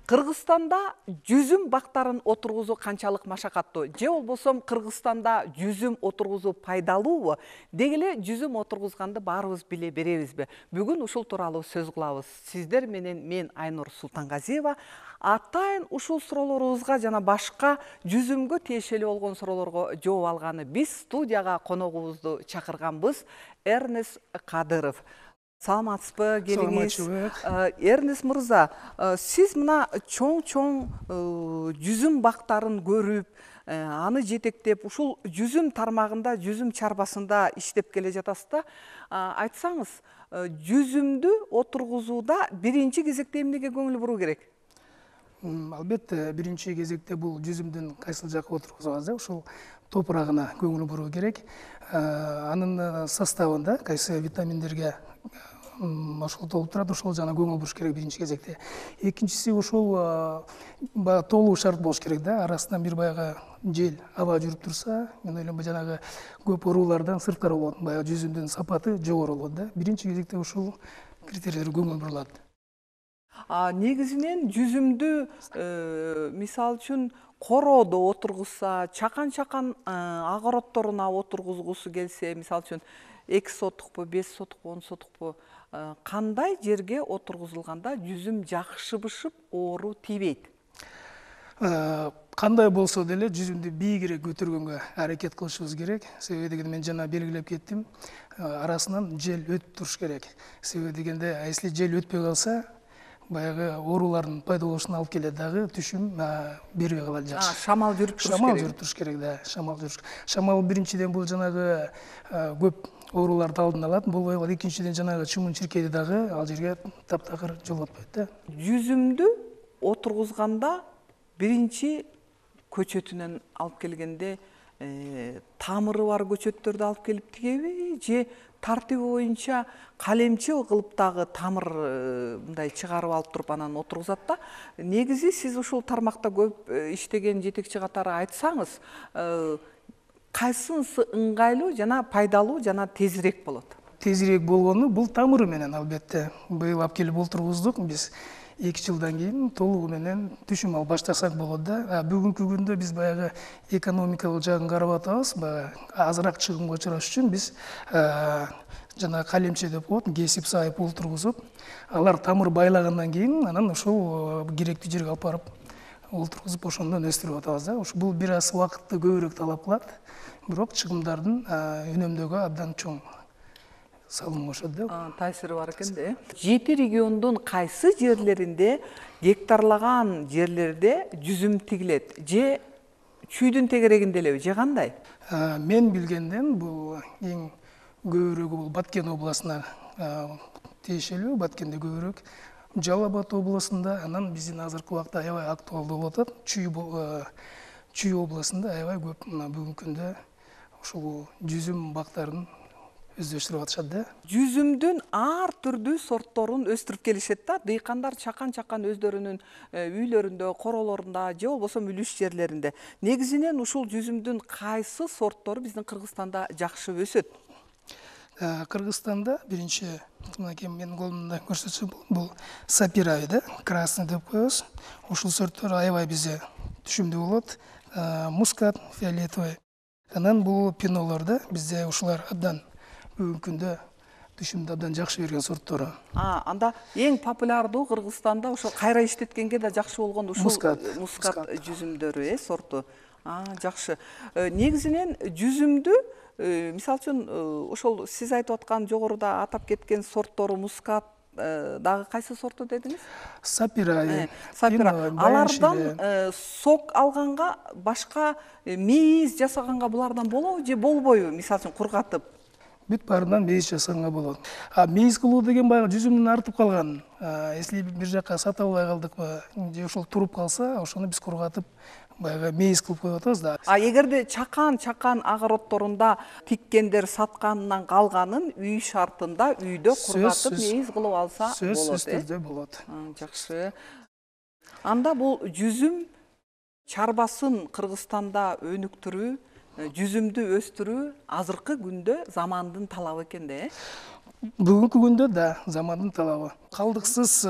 Кыргызстанда жүзүм бактарын отургузуу канчалык машакаттуу? Же болбосо Кыргызстанда жүзүм отургузуу пайдалуубу? Деги эле жүзүм отургузганды баарыбыз биле беребизби? Бүгүн ушул тууралуу сөз кылабыз. Сиздер менен мен Айнур Султангазиева. Атайын ушул суроолорубузга жана башка жүзүмгө тиешелүү болгон суроолорго жооп алганы биз студияга коногубузду чакырганбыз. Эрнест Кадыров. Саламатсызбы, келиңиз. Эрнест мырза, сиз мына чоң жүзүм бактарын көрүп, аны жетектеп, ушул жүзүм тармагында, жүзүм чарбасында иштеп келе жатасыз да. Айтсаңыз, жүзүмдү отургузууда биринчи кезекте эмнеге көңүл буруу керек? Албетте, биринчи кезекте бул жүзүмдүн кайсыл жакка отургузганыңызда ушул топурагына көңүл буруу керек. Анын составында кайсы витаминдерге ошол толуп турат, ошол жана көңүл буруш керек биринчи кезекте. Экинчиси ушул толуу шарт болуш керек да. Арасынан бир баягы жел, аба жүрүп турса, мен ойлойм жанагы көп оорулардан сырткары болот. Баягы жүзүмдүн сапаты жогору болот да. Биринчи кезекте ушул критерийлерге көңүл бурулат. Негизинен жүзүмдү мисалы үчүн короодо отургузса, чакан огородторуна отургузгусу келсе, мисалы үчүн 2 сотукпу, 5 сотукпу, 10 сотукпу, кандай жерге отургузулганда жүзүм жакшы бышып, оору тийбейт? Кандай болсо деле жүзүмдү бийигирээк көтөргөнгө аракет кылышыбыз керек. Себеби дегенде мен жана белгилеп кеттим, арасынан жел өтүп туруш керек. Себеби дегенде, если жел өтпөй калса, баягы оорулардын пайда болушуна алып келет дагы, түшүм бербей калат жакшы. Шамал жүрүп туруш керек. Шамал жүрүп туруш керек да, шамал жүрүш. Шамал биринчиден бул жанагы көп ооруларды алдын алат, болбой калат. Экинчиден жанагы чымын-чиркейди дагы ал жерге таптакыр жолотпойт да. Жүзүмдү отургузганда биринчи көчөтүнөн алып келгенде тамыры бар көчөттөрдү алып келип тигеби, же тартиби боюнча калемче кылып дагы тамыр мындай чыгарып алып туруп анан отургузат да. Негизи сиз ушул тармакта көп иштеген жетекчи катары айтсаңыз, кайсынысы ыңгайлуу жана пайдалуу жана тезирээк болот? Тезирээк болгону бул тамыры менен албетте. Быйыл алып келип отургуздук биз. 2 жылдан кийин толугу менен түшүм алып баштасак болот да. Бүгүнкү күндө биз баягы экономикалык жагын карап атабыз. Азыраак чыгымга учураш үчүн биз жана калемче деп коет, кесип сайып олтургузуп, алар тамыр байлагандан кийин анан ушул керектүү жерге алып барып олтургузуп, ошондон өстүрүп атабыз да. Бул бир аз убакытты көбүрөөк талап кылат, бирок чыгымдардын үнөмдөөгө абдан чоң салым кошот да. Таасири бар экен да. 7 региондун кайсы жерлеринде, гектарлаган жерлерде жүзүм тигилет? Же чүйдүн тегерегинде элеби, же кандай? Мен билгенден бул эң көбүрөөгү бул Баткен областына тиешелүү, Баткенде көбүрөөк. Жалал Абад областында, анан биздин азыркы убакта аябай актуалдуу болуп атат. Чүй областында аябай көп бүгүнкү күндө ушул жүзүм бактарын өздөштүрүп атышат да. Жүзүмдүн ар түрдүү сортторун өстүрүп келишет да. Дыйкандар чакан өздөрүнүн үйлөрүндө, королорунда же болбосо үлүш жерлеринде. Негизинен ушул жүзүмдүн кайсы сорттору биздин Кыргызстанда жакшы өсөт? Кыргызстанда биринчи, мынакей менин колумда көрсөтсөм, бул сапирави да, красный деп коебуз. Ушул сорттор аябай бизде түшүмдүү болот. Мускат, фиолетовый. Анан бул пинолор да, бизде ушулар абдан бүгүнкү күндө түшүмдү абдан жакшы берген сорттору. Анда эң популярдуу Кыргызстанда ошо кайра иштеткенге да жакшы болгон ушул мускат жүзүмдөрү, сорту. Жакшы. Негизинен жүзүмдү, мисалы үчүн, ошол сиз айтып аткан жогоруда атап кеткен сорттору мускат, дагы кайсы сорту дедиңиз? Сапирави. Алардан сок алганга, башка мейиз жасаганга булардан болобу же болбойбу? Мисалы үчүн кургатып. Бүт баарынан мейиз жасаганга болот. Мейиз кылуу деген баягы жүзүмдүн артып калган. Если бир жакка сата албай калдыкпы, же ошол туруп калса, ошону биз кургатып, баягы мейиз кылып коюп атабыз да. Эгерде чакан огородторунда тиккендер сатканынан калганын үй шартында үйдө кургатып мейиз кылып алса болот. Сөзсүз болот. Жакшы. Анда бул жүзүм чарбасын Кыргызстанда өнүктүрүү, жүзүмдү өстүрүү азыркы күндө замандын талабы экен да. Бүгүнкү күндө да замандын талабы. Калдыксыз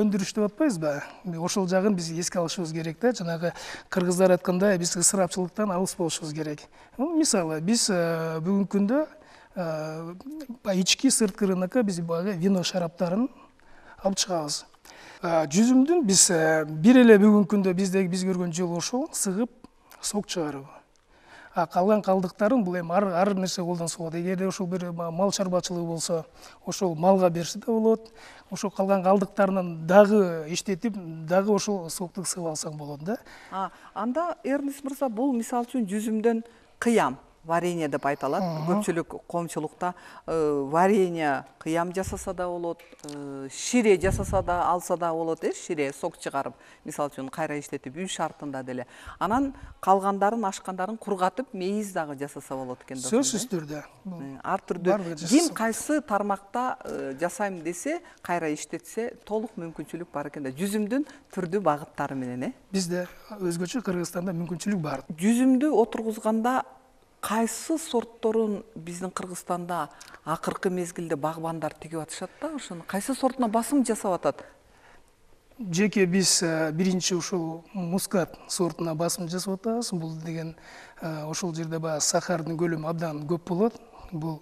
өндүрүш деп атпайбызбы? Ошол жагын биз эске алышыбыз керек да. Жанагы кыргыздар айткандай, биз ысырапчылыктан алыс болушубуз керек. Мисалы, биз бүгүнкү күндө ички сырткы рынокко биз баягы вино шараптарын алып чыгабыз. Жүзүмдүн биз бир эле бүгүнкү күндө биз көргөн жол ошол сыгып сок чыгаруу. Калган калдыктарын бул эми ар нерсе колдонсо болот. Эгерде ошол бир мал чарбачылыгы болсо, ошол малга берсе да болот. Ошол калган калдыктарынан дагы иштетип, дагы ошол сокту сыгып алсаң болот да. Анда Эрнест мырза, бул мисалы үчүн жүзүмдөн кыям, варенье деп айтылат. Көпчүлүк коомчулукта варенье, кыям жасаса да болот, шире жасаса да алса да болот, шире сок чыгарып, мисалы үчүн кайра иштетип үй шартында деле. Анан калгандарын, ашкандарын кургатып, мейиз дагы жасаса болот экен да. Сөзсүз түрдө. Ар түрдүү ким кайсы тармакта жасайм десе, кайра иштетсе, толук мүмкүнчүлүк бар экен да. Жүзүмдүн түрдүү багыттары менен, Бизде өзгөчө Кыргызстанда мүмкүнчүлүк бар. Жүзүмдү отургузганда кайсы сортторун биздин Кыргызстанда акыркы мезгилде багбандар тигип атышат да, ошону кайсы сортуна басым жасап атат? Жеке биз биринчи ушул мускат сортуна басым жасап атабыз. Бул деген ошол жерде баягы сахардын көлөмү абдан көп болот. Бул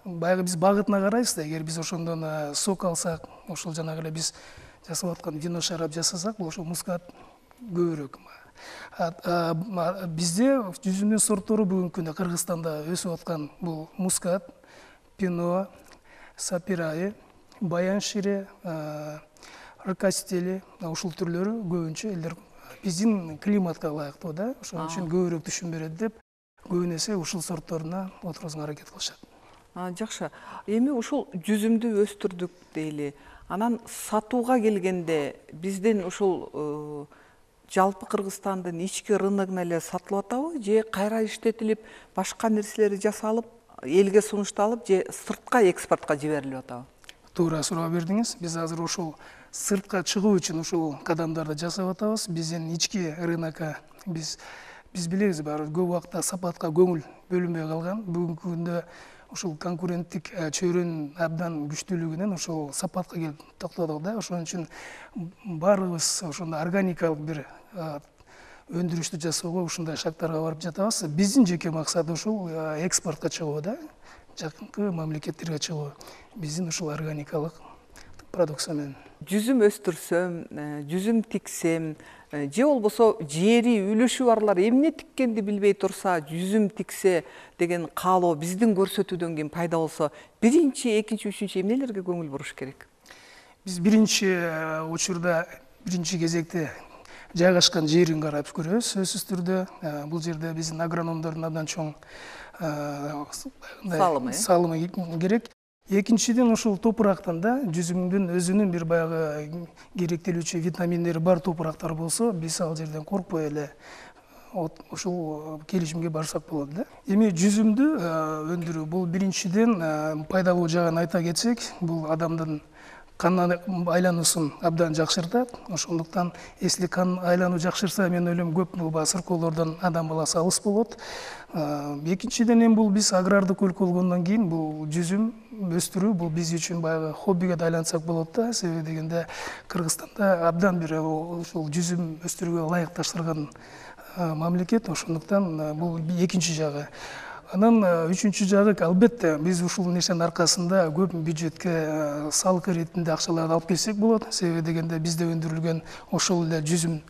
баягы биз багытына карайбыз да, эгер биз ошондон сок алсак, ошол жанагы эле биз жасап аткан вино шарап жасасак, бул ошол мускат көбүрөөк. Бизде жүзүмдүн сорттору бүгүнкү күндө Кыргызстанда өсүп аткан бул мускат, пино, сапираи, баян шире, ракастели, ушул түрлөрү көбүнчө элдер биздин климатка ылайыктуу да, ошон үчүн көбүрөөк түшүм берет деп, көбүнесе ушул сортторуна отургузууга аракет кылышат. Жакшы. Эми ушул жүзүмдү өстүрдүк дейли. Анан сатууга келгенде биздин ушул жалпы Кыргызстандын ички рыногуна эле сатылып атабы, же кайра иштетилип, башка нерселери жасалып, элге сунушталып, же сыртка экспортко жиберилип атабы? Туура суроо бердиңиз. Биз азыр ушул сыртка чыгуу үчүн ушул кадамдарды жасап атабыз. Биздин ички рынокко биз билебиз, баары көп убакта сапатка көңүл бөлүнбөй калган. Бүгүнкү күндө ушул конкуренттик чөйрөнүн абдан күчтүүлүгүнөн ошол сапатка келип токтодук да. Ошон үчүн баарыбыз ошондой органикалык бир өндүрүштү жасоого ушундай шарттарга барып жатабыз. Биздин жеке максат ушул экспортко чыгуу да, жакынкы мамлекеттерге чыгуу. Биздин ушул органикалык продукция менен. Жүзүм өстүрсөм, жүзүм тиксем, же болбосо жери үлүшү барлар эмне тиккенди билбей турса, жүзүм тиксе деген каалоо биздин көрсөтүүдөн кийин пайда болсо, биринчи, экинчи, үчүнчү эмнелерге көңүл буруш керек? Биз биринчи учурда, биринчи кезекте жайгашкан жерин карап көрөбүз, сөзсүз түрдө. Бул жерде биздин агрономдордун абдан чоң салымы керек. Экинчиден, ушул топурактан да жүзүмдүн өзүнүн бир баягы керектелүүчү витаминдери бар топурактар болсо, биз ал жерден коркпой эле ушул келишимге барсак болот да. Эми жүзүмдү өндүрүү бул биринчиден пайдалуу жагын айта кетсек, бул адамдын кан айлануусун абдан жакшыртат. Ошондуктан эсли кан айлануу жакшырса, мен ойлойм көп сыркоолордон адам баласы алыс болот. Экинчиден эми бул биз агрардык өлкө болгондон кийин бул жүзүм өстүрүү бул биз үчүн баягы хоббиге да айлансак болот да. Себеби дегенде Кыргызстанда абдан бир ушул жүзүм өстүрүүгө ылайыкташтырган мамлекет. Ошондуктан бул экинчи жагы. Анан үчүнчү жагы, албетте биз ушул нерсенин аркасында көп бюджетке салык иретинде акчаларды алып келсек болот. Себеби дегенде бизде өндүрүлгөн ошол эле жүзүм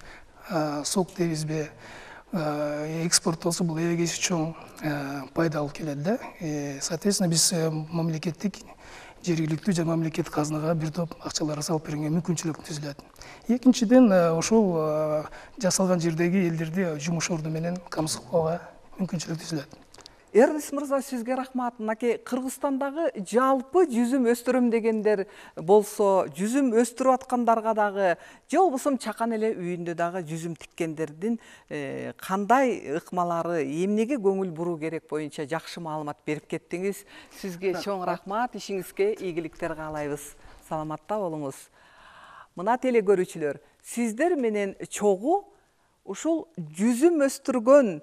сок дейбизби, экспорттолсо бул эбегейси чоң пайда алып келет да. Соответственно, биз мамлекеттик, жергиликтүү жана мамлекеттик казынага бир топ акчаларды салып бергенге мүмкүнчүлүк түзүлөт. Экинчиден, ошол жасалган жердеги элдерди жумуш орду менен камсыздоого мүмкүнчүлүк түзүлөт. Эрнест мырза, сизге рахмат. Мынакей Кыргызстандагы жалпы жүзүм өстүрөм дегендер болсо, жүзүм өстүрүп аткандарга дагы, же болбосо чакан эле үйүндө дагы жүзүм тиккендердин кандай ыкмалары, эмнеге көңүл буруу керек боюнча жакшы маалымат берип кеттиңиз. Сизге чоң рахмат, ишиңизге ийгиликтер каалайбыз. Саламатта болуңуз. Мына теле көрүүчүлөр, сиздер менен чогуу ушул жүзүм өстүргөн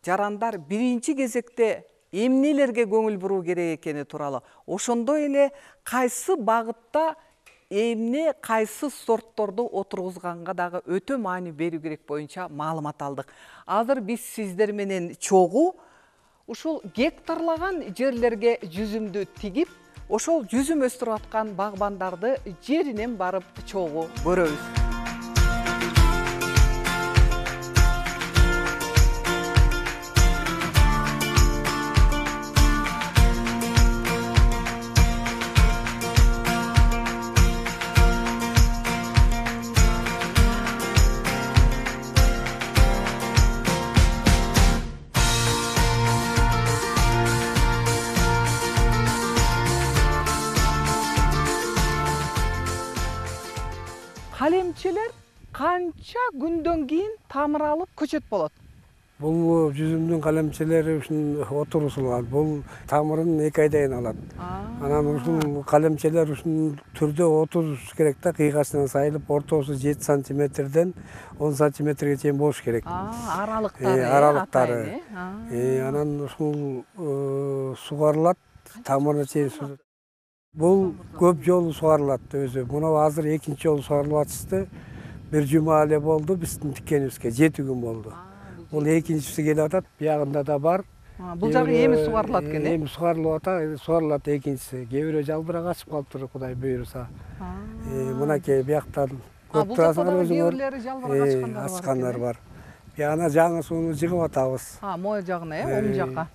жарандар биринчи кезекте эмнелерге көңүл буруу керек экени тууралуу, ошондой эле кайсы багытта эмне кайсы сортторду отургузганга дагы өтө маани берүү керек боюнча маалымат алдык. Азыр биз сиздер менен чогуу ушул гектарлаган жерлерге жүзүмдү тигип, ошол жүзүм өстүрүп аткан багбандарды жеринен барып чогуу көрөбүз. Калемчелер канча күндөн кийин тамыр алып көчөт болот? Бул жүзүмдүн калемчелери ушун отургузулган. Бул тамырын 2 айдан алат. Анан ушул калемчелер ушул түрдө отуруш керек да, кыйгасынан сайылып, ортосу 7 сантиметрден 10 сантиметрге чейин болуш керек. Аралыктары. Анан ушул сугарылат, тамырына чейин суу. Бул көп жолу сугарылат өзү. Мына азыр 2-нчи жолу сугарылып атышты. Бир жума эле болду биздин тиккенибизге, 7 күн болду. Бул экинчиси келип атат, буягында да бар. Бул жагы эми сугарылат экен, Эми сугарылып атат, сугарылат экинчиси. Кээ бирөө жалбырак ачып калыптыр, Кудай буйруса. Мынакей буяктан көрүп турасыңар өзүңөр. Кээ бирлери жалбырак ачкандар бар. Бияна жаңы сууну жыгып атабыз. Моё жагына, оң жакка.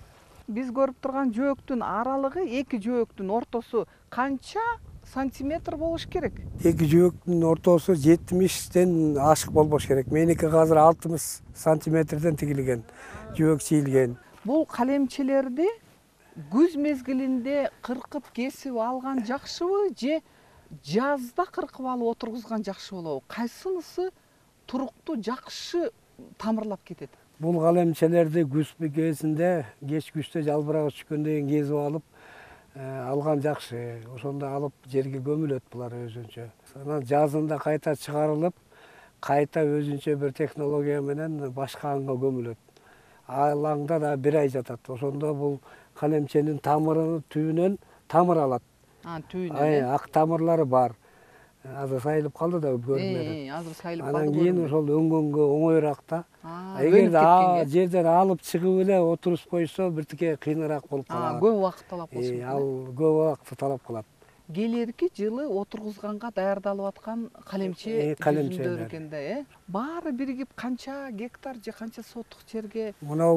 Биз көрүп турган жөөктүн аралыгы, 2 жөөктүн ортосу канча сантиметр болуш керек? 2 жөөктүн ортосу 70ден ашык болбош керек. Меники азыр 60 сантиметрден тигилген, жөөк чийилген. Бул калемчелерди күз мезгилинде кыркып кесип алган жакшыбы же жазда кыркып алып отургузган жакшы болобу? Кайсынысы туруктуу жакшы тамырлап кетет? Бул калемчелерди күз кезинде, кеч күздө жалбырак түшкөндөн кийин кесип алып алган жакшы. Ошондо алып жерге көмүлөт булар өзүнчө. Анан жазында кайта чыгарылып, кайта өзүнчө бир технология менен башка аңга көмүлөт. Ал аңда да 1 ай жатат. Ошондо бул калемченин тамырынын түбүнөн тамыр алат. Түбүнөн. Ак тамырлары бар. Азыр сайылып калды да көрүнөт. Азыр сайылып калды. Анан кийин ошол öngөнгө оңоюраак да. Эгерде жерден алып чыгып эле отуруп койсо, биртике кыйыныраак болуп калат. Көп убакыт талап болуш керек. Ал көп убакыт талап кылат. Келерки жылы отургузганга даярдалып аткан калемче жүзүмдөр экен да, Баары биригип канча гектар же канча соттук жерге? Мына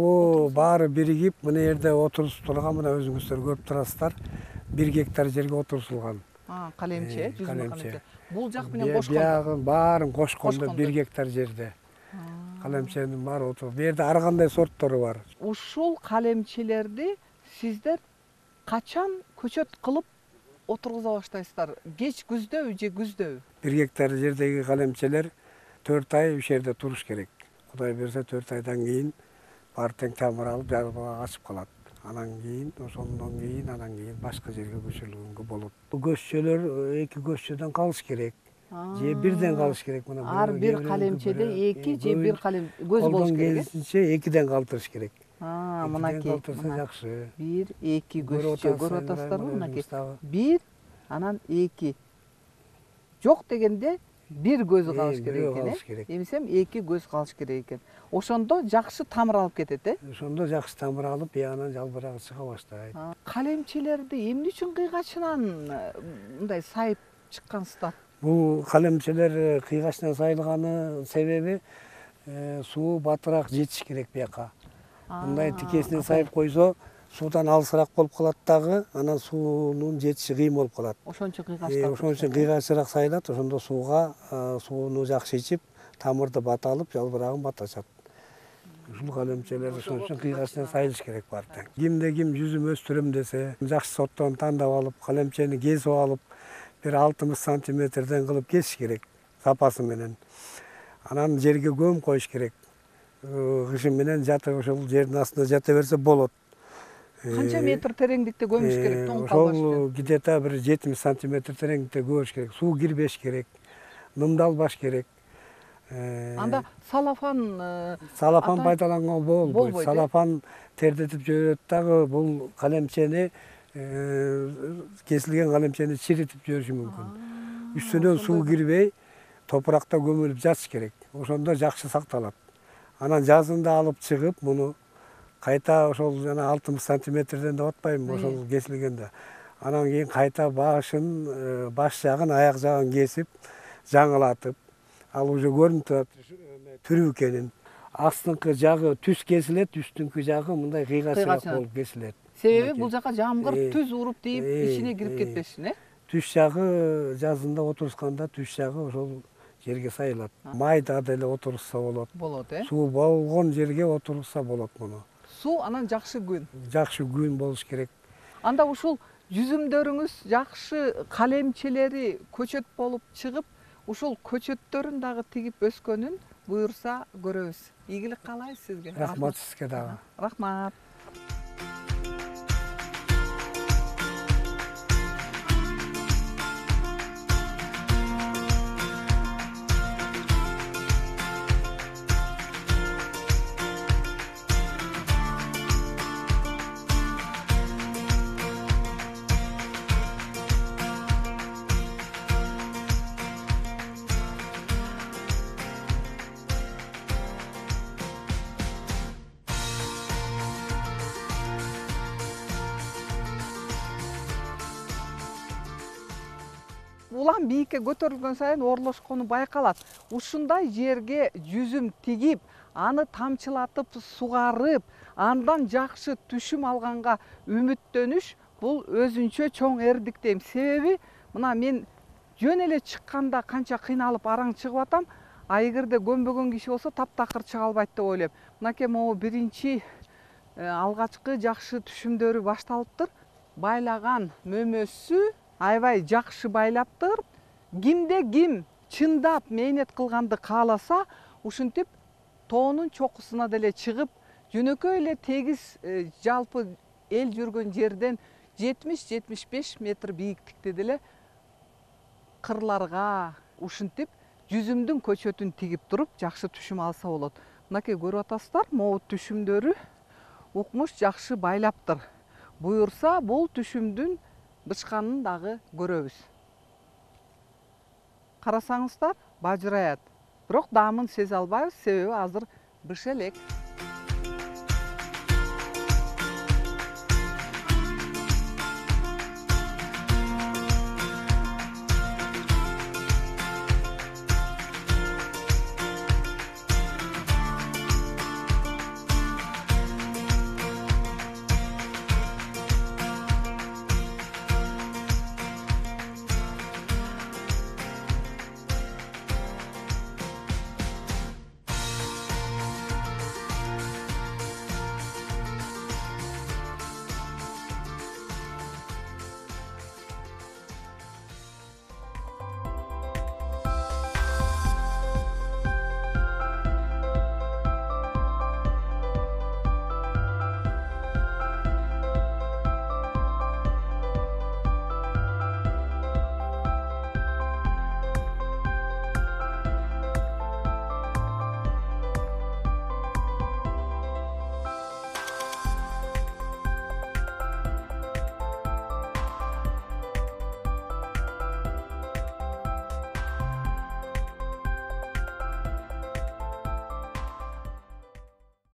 баары биригип, мына жерде отурусуп турган, мына өзүңүздөр көрүп турасыздар. 1 гектар жерге отурусулган. Калемче, жүзүм калемче. Бул жак менен кошкондо. Биягын баарын кошкондо 1 гектар жерде. Калемченин баары отуруп. Бу жерде ар кандай сорттору бар. Ушул калемчелерди сиздер качан көчөт кылып отургуза баштайсыздар? Кеч күздөбү же күздөбү? 1 гектар жердеги калемчелер 4 ай ушул жерде туруш керек. Кудай берсе 4 айдан кийин баары тең тамыр алып, жалбырак ачып калат. Анан кийин, ошондон кийин башка жерге көчүрүлгөнгө болот. Көччөлөр 2 көччөдөн калыш керек. Же бирден калыш керек. Мына ар бир калемчеде 2 же 1 калем көз болуш керек. Колдон 2ден калтырыш керек. Мынакей. Калтырса жакшы. 1, 2 көччө көрүп атасыздарбы? Мынакей. 1, анан 2. Жок дегенде 1 көзү калыш керек экен. Эмисем 2 көз калыш керек экен. Ошондо жакшы тамыр алып кетет, Ошондо жакшы тамыр алып, биянан жалбырагы чыга баштайт. Калемчелерди эмне үчүн кыйгачынан мындай сайып чыккансыздар? Бул калемчелер кыйгачынан сайылганын себеби суу батыраак жетиш керек бияка. Мындай тикесинен сайып койсо, суудан алысыраак болуп калат дагы, анан суунун жетиши кыйын болуп калат. Ошон үчүн кыйгачтап. Ошон үчүн кыйгачыраак сайылат, ошондо сууну жакшы ичип, тамырды бата алып, жалбырагын баташат. Ушул калемчелер ошон үчүн кыйгачынан сайылыш керек бар тең. Кимде ким жүзүм өстүрөм десе, жакшы сортторун тандап алып, калемчени кесип алып, бир 60 сантиметрден кылып кесиш керек, сапасы менен. Анан жерге көм коюш керек. Кышын менен жатып ошол жердин астында жата берсе болот. Канча метр тереңдикте көмүш керек, тоң калбаш үчүн? Ошол где-то бир 70 сантиметр тереңдикте көмүш керек. Суу кирбеш керек, нымдалбаш керек. Анда салафан пайдаланган болбойт. Салафан тердетип жиберет дагы, бул калемчени кесилген калемчени чиритип жибериши мүмкүн. Үстүнөн суу кирбей, топуракта көмүлүп жатыш керек. Ошондо жакшы сакталат. Анан жазында алып чыгып, муну кайта ошол жана 60 сантиметрден деп атпайбы, ошол кесилгенде. Анан кийин кайта башын, баш жагын, аяк жагын кесип, жаңылатып, ал уже көрүнүп турат түрү экенин. Астыңкы жагы түз кесилет, үстүңкү жагы мындай кыйгачыраак болуп кесилет. Себеби бул жака жамгыр түз уруп тийип, ичине кирип кетпеш үчүн, Түз жагы жазында отурусканда түз жагы ошол жерге сайылат. Майда деле отурса болот. Болот, Суу болгон жерге отурса болот муну. Суу анан жакшы күн. Жакшы күн болуш керек. Анда ушул жүзүмдөрүңүз жакшы калемчелери көчөт болуп чыгып, ушул көчөттөрүн дагы тигип өскөнүн буюрса көрөбүз. Ийгилик каалайбыз сизге. Рахмат сизге дагы. Рахмат. Улам бийикке көтөрүлгөн сайын орлошкону байкалат. Ушундай жерге жүзүм тигип, аны тамчылатып, сугарып, андан жакшы түшүм алганга үмүттөнүш бул өзүнчө чоң эрдик дейм. Себеби мына мен жөн эле чыкканда канча кыйналып араң чыгып атам, а эгерде көнбөгөн киши болсо таптакыр чыга албайт деп ойлойм. Мынакей могу биринчи алгачкы жакшы түшүмдөрү башталыптыр. Байлаган мөмөсү аябай жакшы байлаптыр. Кимде ким чындап мээнет кылганды кааласа, ушинтип тоонун чокусуна деле чыгып, жөнөкөй эле тегиз жалпы эл жүргөн жерден 70-75 метр бийиктикте деле кырларга ушинтип жүзүмдүн көчөтүн тигип туруп жакшы түшүм алса болот. Мынакей көрүп атасыздар, могу түшүмдөрү укмуш жакшы байлаптыр. Буюрса бул түшүмдүн бычканын дагы көрөбүз. Карасаңыздар, бажыраят. Бирок даамын сезе албайбыз, себеби азыр быш элек.